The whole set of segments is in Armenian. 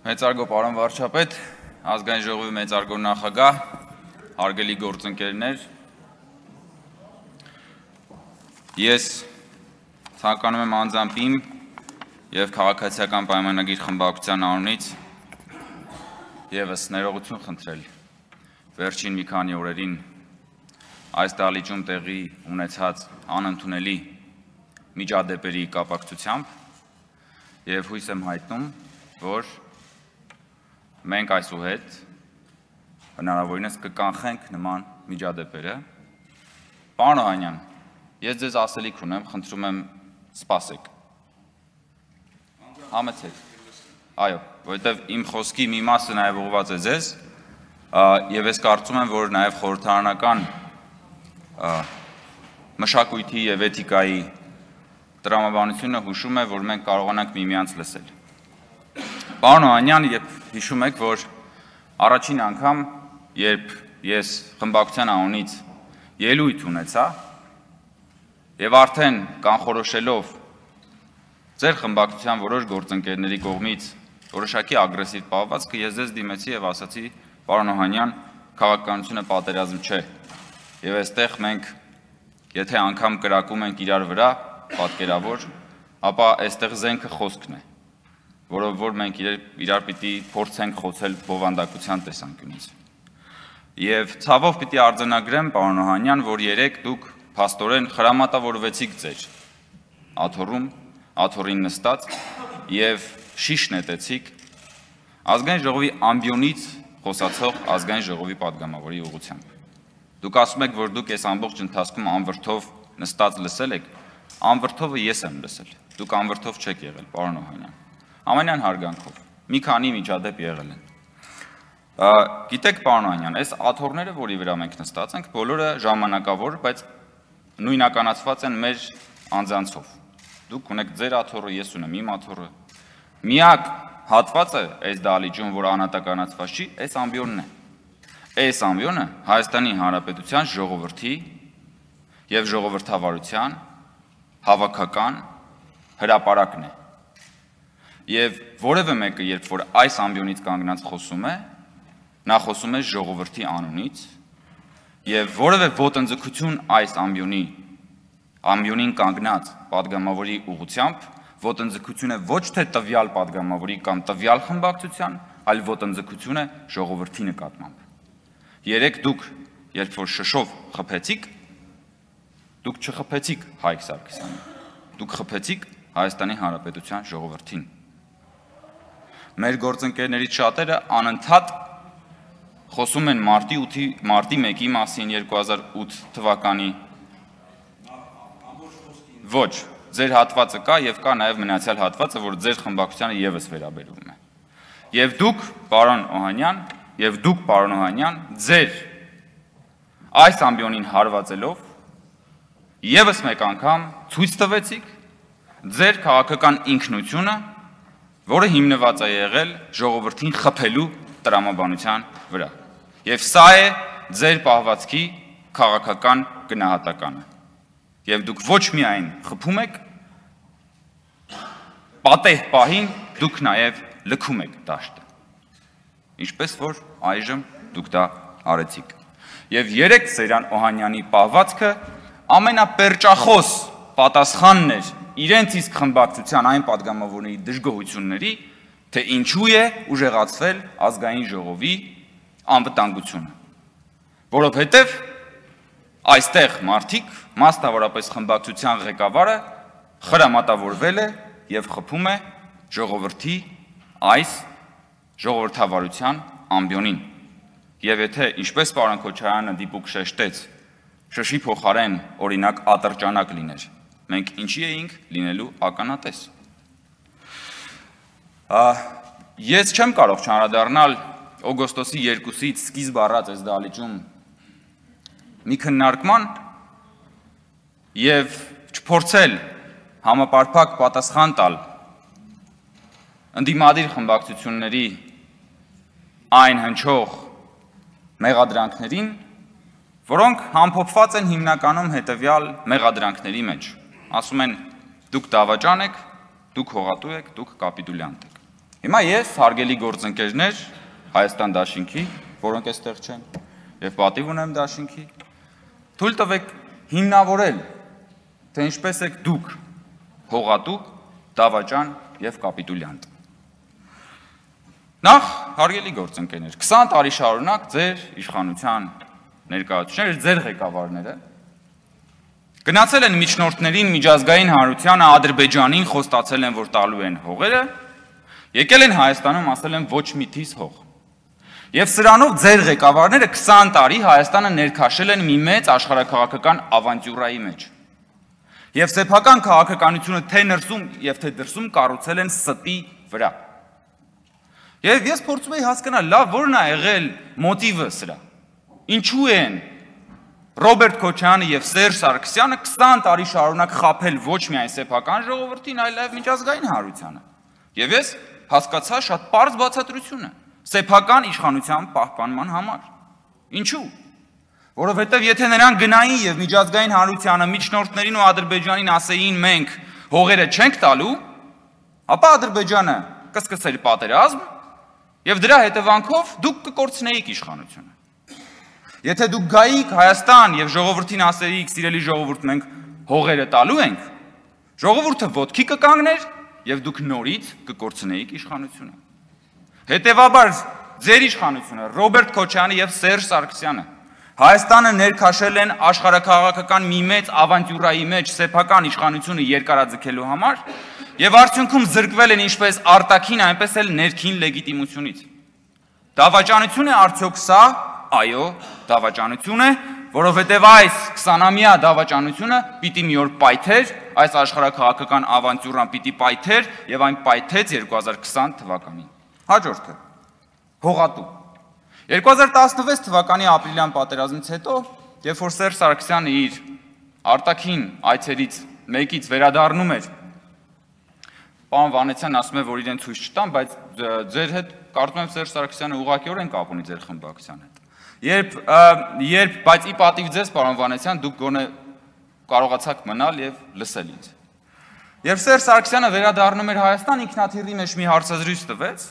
Մեծարգո պարոն վարչապետ, ազգային ժողովի մեծարգո նախագահ, հարգելի գործընկերներ, ես ցանկանում եմ անձամբ իմ և քաղաքացիական պայմանագիր խմբակցության անունից ևս ներողություն խնդրել վերջին մի քանի օրերին այս դահլիճում տեղի ունեցած անընդունելի միջադեպերի կապակցությամբ և հույս եմ հայտնում, որ մենք այսուհետ հնարավորինս կկանխենք նման միջադեպերը։ Պարոն Օհանյան, ես ձեզ ասելիք ունեմ, խնդրում եմ սպասեք։ Համեցեք։ Այո, որովհետև իմ խոսքի մի մասը նաև ուղղված է ձեզ, եւ ես կարծում եմ, որ նաև խորհրդարանական մշակույթի եւ էթիկայի տրամաբանությունը հուշում է, որ մենք կարողանանք միմյանց լսել։ Պարոն Օհանյան, հիշում եք, որ առաջին անգամ, երբ ես խմբակցության անունից ելույթ ունեցա եւ արդեն կանխորոշելով ձեր խմբակցության որոշ գործընկերների կողմից որոշակի ագրեսիվ պահվածքը, ես ձեզ դիմեցի եւ ասացի, պարոն Օհանյան, քաղաքականությունը պատերազմ չէ։ Եվ այստեղ մենք, եթե անգամ կրակում ենք իրար վրա, պատկերավոր, ապա այստեղ զենքը խոսքն է, որով որ մենք իրար պիտի փորձենք խոցել բովանդակության տեսանկյունից։ Եվ ցավով պիտի արձանագրեմ, պարոն Օհանյան, որ երեկ դուք փաստորեն խրամատավորվեցիք ձեր աթոռում, աթոռին նստած եւ շիշ նետեցիք ազգային ժողովի ամբիոնից խոսացող ազգային ժողովի падգամավորի ուղղությամբ։ Դուք ասում եք, որ դուք այս ամբողջ ընթացքում անվրդով նստած լսել եք, անվրդովը ես եմ լսել, դուք անվրդով չեք եղել, պարոն Օհանյան, ամենայն հարգանքով, մի քանի միջադեպ եղել են։ Գիտեք, պարոն Օհանյան, այս աթոռները, որի վրա մենք նստած ենք, բոլորը ժամանակավոր, բայց նույնականացված են մեր անձանցով։ Դուք ունեք ձեր աթոռը, ես ունեմ իմ աթոռը։ Միակ հատվածը այս դահլիճում, որ անհատականացված չի, այս ամբիոնն է։ Այս ամբիոնը Հայաստանի Հանրապետության ժողովրդի եւ ժողովրդավարության հավաքական հրապարակն է։ Եվ որևէ մեկը, երբ որ այս ամբիոնից կանգնած խոսում է, նա խոսում է ժողովրդի անունից, եւ որևէ ոտնձգություն այս ամբիոնին կանգնած падգամավորի ուղղությամբ ոտնձգություն է ոչ թե տվյալ падգամավորի կամ տվյալ խմբակցության, այլ ոտնձգություն է ժողովրդի նկատմամբ։ Երեք դուք, երբ որ շշով խփեցիք, դուք չխփեցիք Հայկ Սարգսյանին, դուք խփեցիք Հայաստանի Հանրապետության ժողովրդին։ Մեր գործընկերներից շատերը անընդհատ խոսում են մարտի 1-ի մասին 2008 թվականի։ Ոչ, ձեր հատվածը կա եւ կա նաեւ մնացյալ հատվածը, որ ձեր խմբակցությանը եւս վերաբերվում է։ Եվ դուք, պարոն Օհանյան, ձեր այս ամբիոնին հարվածելով եւս մեկ անգամ ցույց տվեցիք ձեր քաղաքական ինքնությունը, որը հիմնված է եղել ժողովրդին խփելու տրամաբանության վրա։ Եվ սա է ձեր պահվածքի քաղաքական գնահատականը։ Եվ դուք ոչ միայն խփում եք, պատեհ պահին դուք նաև լքում եք դաշտը։ Ինչպես որ այժմ դուք դա արեցիք։ Եվ երեք Սերյան Օհանյանի պահվածքը ամենապերճախոս պատասխանն էր իրենց իսկ խմբակցության այն падգամավորների դժգոհությունների, թե ինչու է ուժեղացվել ազգային ժողովի անվտանգությունը, որովհետև այստեղ մարդիկ, մասնավորապես խմբակցության ղեկավարը խրամատավորվել է եւ խփում է ժողովրդի այս ժողովրդավարության ամբիոնին։ Եվ եթե ինչպես պարոն Քոչարյանը դիպուկ շեշտեց, շշի փոխարեն օրինակ ատրճանակ լիներ, մենք ինչի էինք լինելու ականատես։ Ես չեմ կարող չանդրադառնալ օգոստոսի 2-ից սկիզբ առած այս դահլիճում մի քննարկման եւ չփորձել համապարփակ պատասխան տալ ընդդիմադիր խմբակցությունների այն հնչող մեղադրանքներին, որոնք համփոփված են հիմնականում հետևյալ մեղադրանքների մեջ։ Ասում են, դուք դավաճան եք, դուք հողատու եք, դուք կապիտուլյանտ եք։ Հիմա ես, հարգելի գործընկերներ, Հայաստան դաշինքի, որոնք այստեղ չեն, եւ պատիվ ունեմ դաշինքի, թույլ տվեք հիմնավորել, թե ինչպես եք դուք հողատուկ, դավաճան եւ կապիտուլյանտ։ Նախ, հարգելի գործընկերներ, 20 տարի շարունակ ձեր իշխանության ներկայացուցիչները, ձեր ղեկավարները գնացել են միջնորդներին, միջազգային հանրությանը, Ադրբեջանին խոստացել են, որ տալու են հողերը, եկել են Հայաստանում, ասել են ոչ մի թիզ հող։ Եվ սրանով ձեր ղեկավարները 20 տարի Հայաստանը ներքաշել են մի մեծ աշխարհաքաղաքական ավանտյուրայի մեջ։ Եվ սեփական քաղաքականությունը թե ներսում եւ թե դրսում կառուցել են ստի վրա։ Եվ ես փորձում եի հասկանալ, լավ, ո՞րն է եղել մոտիվը սրա։ Ինչու են Ռոբերտ Քոչարյանը եւ Սերժ Սարգսյանը 20 տարի շարունակ խաբել ոչ միայն սեփական ժողովրդին, այլև միջազգային հանրությանը։ Եվ ես հասկացա շատ պարզ բացատրությունը սեփական իշխանության պահպանման համար։ Ինչու՞։ Որովհետև եթե նրանք գնային եւ միջազգային հանրությանը, միջնորդներին ու Ադրբեջանին ասեին մենք հողերը չենք տալու, ապա Ադրբեջանը կսկսեր պատերազմ եւ դրա հետևանքով դուք կկորցնեիք իշխանությունը։ Եթե դուք գայիք Հայաստան եւ ժողովրդին ասեիք, սիրելի ժողովուրդ, մենք հողերը տալու ենք, ժողովուրդը ոտքի կկանգներ եւ դուք նորից կկորցնեիք իշխանությունը։ Հետևաբար ձեր իշխանությունը Ռոբերտ Քոչարյանը եւ Սերժ Սարգսյանը Հայաստանը ներքաշել են աշխարհաքաղաքական մի մեծ ավանտյուրայի մեջ սեփական իշխանությունը երկարաձգելու համար եւ արդյունքում զրկվել են ինչպես արտաքին, այնպես էլ ներքին լեգիտիմությունից։ Դավաճանություն է արդյոք սա։ Այո, դավաճանություն է, որովհետև այս 20-ամյա դավաճանությունը պիտի մի օր պայթեր, այս աշխարհաքաղաքական ավանտյուրան պիտի պայթեր եւ այն պայթեց 2020 թվականին։ Հաջորդը հողատու 2016 թվականի ապրիլյան պատերազմից հետո, երբ որ Սերժ Սարգսյանը իր արտաքին այցերից մեկից վերադառնում էր, պարոն Վանեցյանն ասում է, որ իրեն ցույց չտան, բայց ձեր հետ կարծում եմ Սերժ Սարգսյանը ուղղակիորեն կապ ունի ձեր խմբակցության հետ։ Բայց ի պատիվ ձեզ, պարոն Վանեցյան, դուք գոնե կարողացաք մնալ եւ լսել ինձ։ Երբ Սերժ Սարգսյանը վերադառնում էր Հայաստան, ինքնաթիռի մեջ մի հարցազրույց տվեց,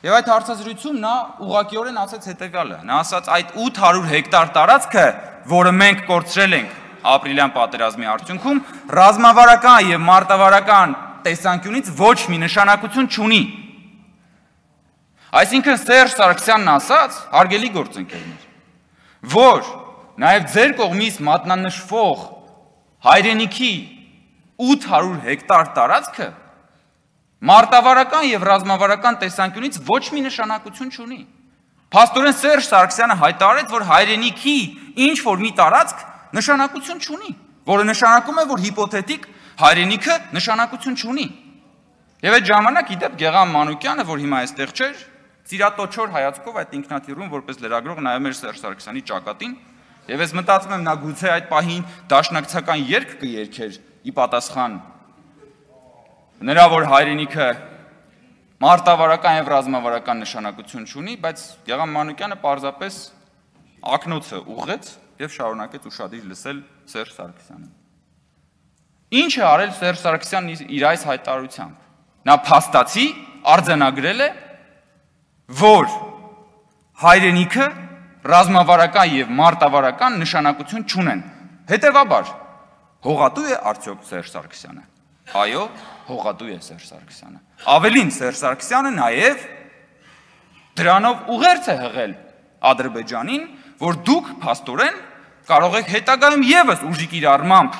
եւ այդ հարցազրույցում նա ուղղակիորեն ասաց հետեւյալը. նա ասաց այդ 800 հեկտար տարածքը, որը մենք կորցրել ենք ապրիլյան պատերազմի արդյունքում, ռազմավարական եւ մարտավարական տեսանկյունից ոչ մի նշանակություն չունի։ Այսինքն Սերժ Սարգսյանն ասաց, հարգելի գործընկերներ, որ նաեւ ձեր կողմից մատնանշվող հայրենիքի 800 հեկտար տարածքը մարտավարական եւ ռազմավարական տեսանկյունից ոչ մի նշանակություն չունի։ Փաստորեն Սերժ Սարգսյանը հայտարարեց, որ հայրենիքի ինչ որ մի տարածք նշանակություն չունի, որը նշանակում է, որ հիպոթետիկ հայրենիքը նշանակություն չունի։ Եվ այդ ժամանակ իդեպ Գեղամ Մանուկյանը, որ հիմա այստեղ չէր, ծիրատոչոր հայացքով այդ ինքնաթիռում որպես լրագրող նայում էր Սերժ Սարգսյանի ճակատին, եւ ես մտածում եմ նա գուցե այդ պահին դաշնակցական երգ կերգեր ի պատասխան նրա որ հայրենիքը մարտավարական եւ ռազմավարական նշանակություն չունի, բայց Գեղամ Մանուկյանը պարզապես ակնոցը ուղղեց եւ շարունակեց ուշադիր լսել Սերժ Սարգսյանին։ Ինչ է արել Սերժ Սարգսյանն իր այս հայտարարությամբ։ Նա փաստացի արձանագրել է, որ հայրենիքը ռազմավարական եւ մարտավարական նշանակություն չունեն։ Հետևաբար հողատու է արդյոք Սերժ Սարգսյանը։ Այո, հողատու է Սերժ Սարգսյանը։ Ավելին Սերժ Սարգսյանը նաև դրանով ուղերձ է հղել Ադրբեջանին, որ դուք փաստորեն կարող եք հետագայում եւս ուժի կիրառմամբ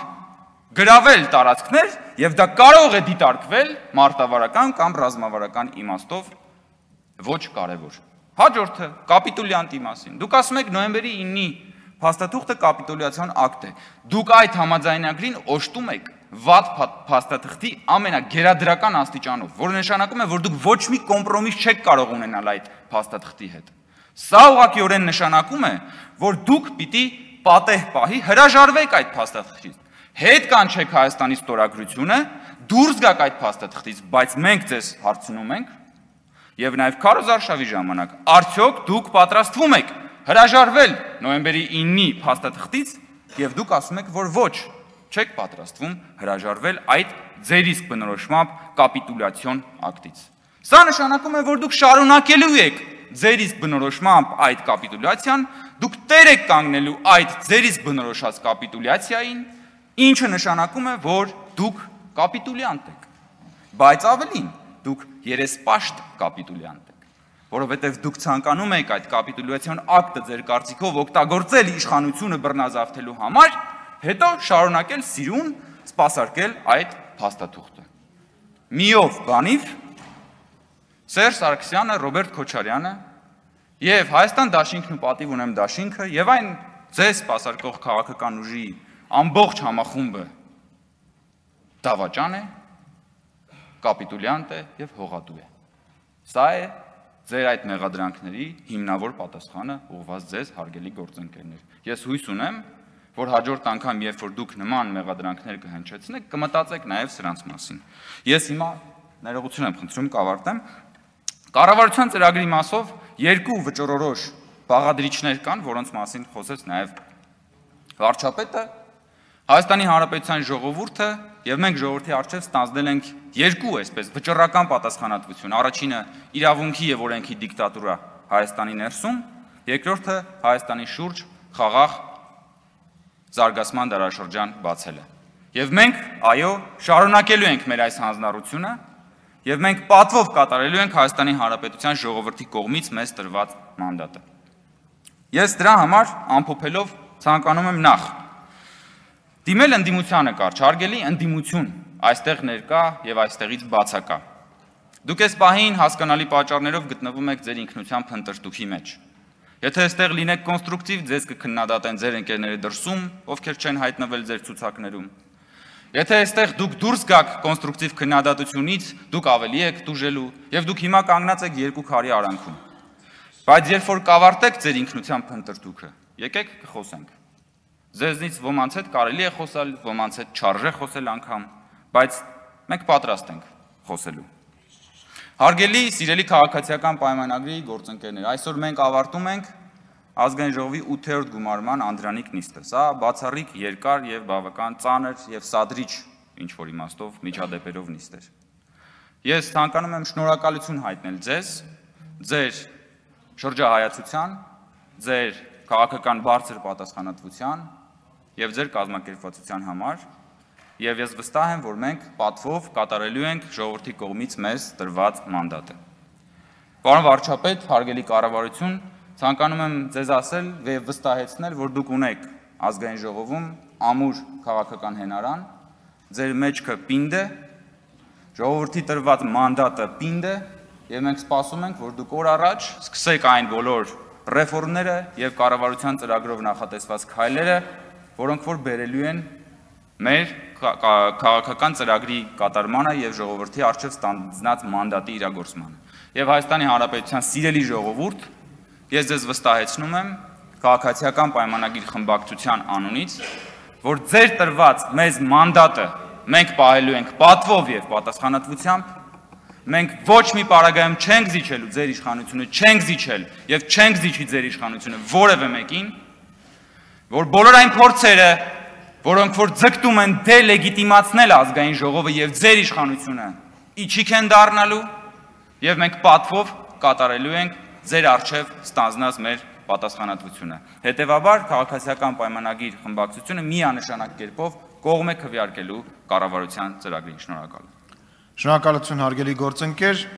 գրավել տարածքներ եւ դա կարող է դիտարկվել մարտավարական կամ ռազմավարական իմաստով ոչ կարևոր։ Հաջորդը կապիտուլյանտի մասին։ Դուք ասում եք նոյեմբերի 9-ի փաստաթուղթը կապիտուլյացիոն ակտ է։ Դուք այդ համաձայնագրին օժտում եք վատ փաստաթղթի ամենագերադրական աստիճանով, որը նշանակում է, որ դուք ոչ մի կոմպրոմիս չեք կարող ունենալ այդ փաստաթղթի հետ։ Սա ուղղակիորեն նշանակում է, որ դուք պիտի պատեհ պահի հրաժարվեք այդ փաստաթղթից։ Հետ կանչեք Հայաստանի ստորագրությունը, դուրս գաք այդ փաստաթղթից, բայց մենք ձեզ հարցնում ենք, եւ նաեւ քարոզարշավի ժամանակ, արդյոք դուք պատրաստվում եք հրաժարվել նոյեմբերի 9-ի փաստաթղթից եւ դուք ասում եք, որ ոչ, չեք պատրաստվում հրաժարվել այդ ձեր իսկ բնորոշմամբ կապիտուլյացիոն ակտից։ Սա նշանակում է, որ դուք շարունակելու եք ձեր իսկ բնորոշմամբ այդ կապիտուլյացիան, դուք տեր եք կանգնելու այդ ձեր իսկ բնորոշած կապիտուլյացիային, ինչը նշանակում է, որ դուք կապիտուլյանտ եք, բայց ավելին, դուք երեսպաշտ կապիտուլյանտ եք, որովհետև դուք ցանկանում եք այդ կապիտուլյացիոն ակտը ձեր կարծիքով օգտագործել իշխանությունը բռնազավթելու համար, հետո շարունակել սիրուն սպասարկել այդ փաստաթուղթը։ Միով բանիվ Սերժ Սարգսյանը, Ռոբերտ Քոչարյանը եւ Հայաստան դաշինքն ու պատիվ ունեմ դաշինքը եւ այն ձեզ սպասարկող քաղաքական ուժի ամբողջ համախումբը դավաճան է, կապիտուլյանտ է եւ հողատու է։ Սա է ձեր այդ մեղադրանքների հիմնավոր պատասխանը ուղղված ձեզ հարգելի գործընկերներ։ Ես հույս ունեմ, որ հաջորդ անգամ, երբ որ դուք նման մեղադրանքներ կհնչեցնեք, կմտածեք նաեւ սրանց մասին։ Ես հիմա ներողություն եմ խնդրում, կավարտեմ։ Կառավարության ծրագրի մասով երկու վճռորոշ բաղադրիչներ կան, որոնց մասին խոսեց նաև վարչապետը, Հայաստանի Հանրապետության ժողովուրդը եւ մենք ժողովրդի առջև ստանձնել ենք երկու այսպես վճռական պատասխանատվություն։ Առաջինը իրավունքի եւ օրենքի դիկտատուրա Հայաստանի ներսում, երկրորդը Հայաստանի շուրջ խաղաղ զարգացման դարաշրջան բացելը։ Եվ մենք, այո, շարունակելու ենք մեր այս հանձնառությունը Եվ մենք պատվով կատարելու ենք Հայաստանի Հանրապետության ժողովրդի կողմից մեզ տրված մանդատը։ Ես դրա համար ամփոփելով ցանկանում եմ նախ դիմել ընդդիմությանը կարճ, հարգելի ընդդիմություն, այստեղ ներկա եւ այստեղից բացակա։ Դուք այս պահին հասկանալի պատճառներով գտնվում եք ձեր ինքնության փնտրտուքի մեջ։ Եթե այստեղ լինեք կոնստրուկտիվ, ձեզ կքննադատեն ձեր ընկերները դրսում, ովքեր չեն հայտնվել ձեր ցուցակներում։ Եթե այստեղ դուք դուրս գաք կոնստրուկտիվ քննադատությունից, դուք ավելի եք տուժելու եւ դուք հիմա կանգնած եք երկու քարի արանքում։ Բայց երբ որ կավարտեք ձեր ինքնության փնտրտուքը, եկեք կխոսենք։ Ձեզնից ոմանց հետ կարելի է խոսալ, ոմանց հետ չարժե խոսել անգամ, բայց մենք պատրաստ ենք խոսելու։ Հարգելի, սիրելի քաղաքացիական պայմանագրի գործընկերներ, այսօր մենք ավարտում ենք Ազգային ժողովի 8-րդ գումարման անդրանիկ նիստը։ Սա բացառիկ երկար եւ բավական ծանր եւ սադրիչ ինչ-որ իմաստով միջադեպերով նիստ էր։ Ես ցանկանում եմ շնորհակալություն հայտնել ձեզ, ձեր շրջահայացության, ձեր քաղաքական բարձր պատասխանատվության եւ ձեր կազմակերպվածության համար, եւ ես վստահ եմ, որ մենք պատվով կատարելու ենք ժողովրդի կողմից մեզ տրված մանդատը։ Պարոն վարչապետ, հարգելի կառավարություն, ցանկանում եմ ձեզ ասել եւ վստահեցնել, որ դուք ունեք ազգային ժողովում ամուր քաղաքական հենարան, ձեր մեջքը պինդ է, ժողովրդի տրված մանդատը պինդ է եւ մենք սպասում ենք, որ դուք օր առաջ սկսեք այն բոլոր ռեֆորմները եւ կառավարության ծրագրով նախատեսված քայլերը, որոնք որ բերելու են մեր քաղաքական ծրագրի կատարմանը եւ ժողովրդի առջև ստանձնած մանդատի իրագործմանը։ Եվ Հայաստանի Հանրապետության սիրելի ժողովուրդ, ես ձեզ վստահեցնում եմ քաղաքացիական պայմանագիր խմբակցության անունից, որ ձեր տրված մեզ մանդատը մենք պահելու ենք պատվով եւ պատասխանատվությամբ, մենք ոչ մի պարագայում չենք զիջելու ձեր իշխանությունը, չենք զիջել եւ չենք զիջի ձեր իշխանությունը որևէ մեկին, որ բոլոր այն փորձերը, որոնք որ ձգտում են դելեգիտիմացնել ազգային ժողովը եւ ձեր իշխանությունը, իջիկ են դառնալու եւ մենք պատվով կատարելու ենք ձեր առջև ստանձնած մեր պատասխանատվությունը։ Հետևաբար քաղաքացիական պայմանագիր խմբակցությունը միանշանակ կերպով կողմ է քվեարկելու կառավարության ծրագրին։ Շնորհակալ եմ։ Շնորհակալություն հարգելի գործընկեր։